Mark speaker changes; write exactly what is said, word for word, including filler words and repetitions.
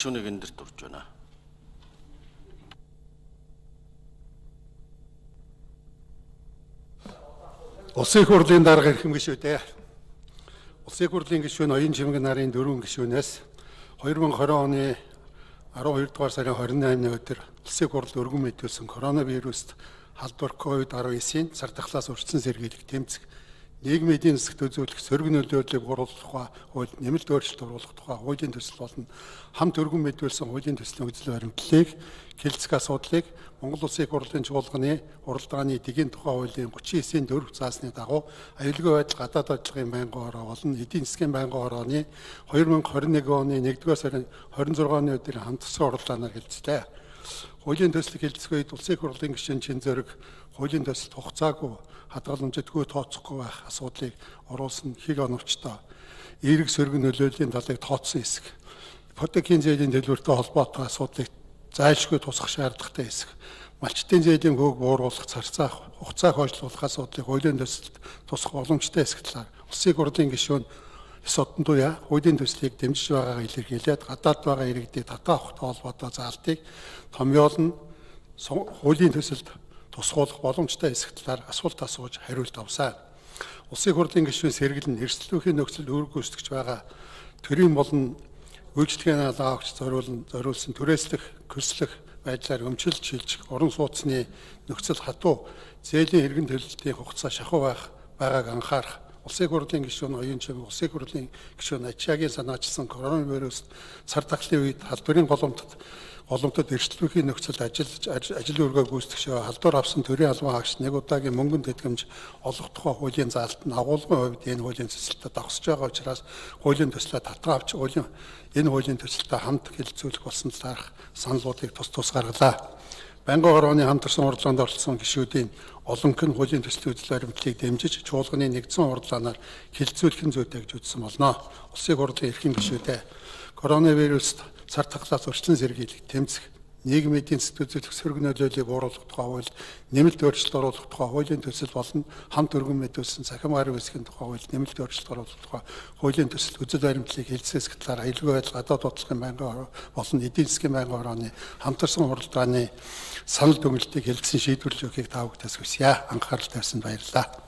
Speaker 1: гишүүнийг энэ дэр дурж байна.
Speaker 2: Улсын хурлын дарга эрхэм гишүүдээ. Улсын хурлын гишүүн Оюун Чимэг нарын дөрвөн гишүүнээс хоёр мың и двадцать оны арван хоёр дугаар сарын хорин наймны өдөр улсын хурл өргөн мэдүүлсэн коронавируст халдвар ковид арван девятийн цар тахлаас урьдчилан сэргийлэх тэмцэх нийгмийн эдийн засагт үзүүлэх сөрөг нөлөөллийг бууруулах тухай хууль нэмэлт өөрчлөлт оруулах тухай хуулийн төсөл болон хамт өргөн мэдүүлсэн хуулийн төслийн үзэл баримтлалыг хэлцэх асуудлыг Монгол Улсын хурлын чуулганы уралдааны дэгийн тухай хуулийн гучин девятийн дөрөв заасны дагуу аюулгүй байдал гадаад ажиллагын байнгын хороо болон эдийн засгийн байнгын хорооны хоёр мың и двадцать нэг оны нэгдүгээр сарын хорин зургааны өдрийн хамт төслийн уралдаанаар хэлцлээ. Хуулийн төслийг хэлцэх үед Улсын хурлын гишүүн чин зэрэг хуулийн төсөлд хугацаагүй хадгаламжтгүй тооцохгүй байх асуудлыг оруулсан хиг оновчтой эерэг сөрөг нөлөөллийн талыг тооцсон хэсэг. Ипотекийн зээлийн дэлгүүртэй холбоотой асуудлыг зайлшгүй тусах шаардлагатай хэсэг. Малчтын зээлийн хөөг бууруулах, царцаах, хугацааг хойшлуулах асуудлыг хуулийн төсөлд тусах боломжтой хэсэг талаар Улсын хурлын гишүүн Эс одон туяа хуулийн төслийг дэмжиж байгаагаа илэрхийлээд гадаад байгаа иргэдийг татаа авахтай холбоотой заалтыг томьёолн хуулийн төсөлд тусгуулах боломжтой хэсэг талаар асуулт асууж хариулт авсан. Улсын хурлын гишүүн сэргэлэн эрсдэлтийн нөхцөл үүрэг гүйцэтгэж байгаа төрийн болон үйлчлэгийн алгаа авч зориулсан зориулсан түрээслэх, хөлслөх байдлаар өмчилж шилжих уран сууцны нөхцөл хатуу зээлийн иргэн төлөлтийн хугацаа шахуу байх байгааг анхаарах. Улсын хурлын гишүүн Оюун Чимэг, Улсын хурлын гишүүн Ачаагийн санаачилсан коронавирус цар тахлын үед халдварын голомтод голомтод эрсдэлтийн нөхцөлд ажиллаж ажил үргээ гүйцэтгэж халдвар авсан төрийн албан хаагч нэг удаагийн мөнгөн тэтгэмж олох тухай хуулийн заалт нь агуулгын хувьд энэ хуулийн төсөлтөд давсж байгаа учраас хуулийн төслөө татгаа авч хуулийн энэ хуулийн төсөлтөд хамт хэлэлцүүлэх болсон талаарх саналуудыг тус тус гаргалаа. Байнгын хорооны хамтарсан уралдаанд оролцсон гишүүдийн олонх нь хуулийн төслийн үзэл баримтлалыг дэмжиж чуулганы нэгдсэн уралдаанаар хэлэлцүүлэх нь зүйтэй гэж үзсэн болно. Улсын хурлын эрхэм гишүүдээ коронавируст цар тахлаас урьдчилан сэргийлэх, тэмцэх, нийгмийн эдийн засгт үзүүлэх сөрөг нөлөөллийг бууруулах тухай хууль нэмэлт өөрчлөлт оруулах тухай хуулийн төсөл болон хамт өргөн мэдүүлсэн цахим гараг үүсгэхийн тухай хууль нэмэлт өөрчлөлт оруулах тухай хуулийн төсөл үзэл баримтлалыг хэлэлцэх талаар аюулгүй байдал гадаад бодлогын байнгын хороо болон эдийн засгийн байнгын хорооны хамтарсан уралдааны санал дүгнэлтийг хэлэлцэн шийдвэрлэж өгөхийг та бүхэндээ хүсье. Анхаарал тавьсанд баярлалаа.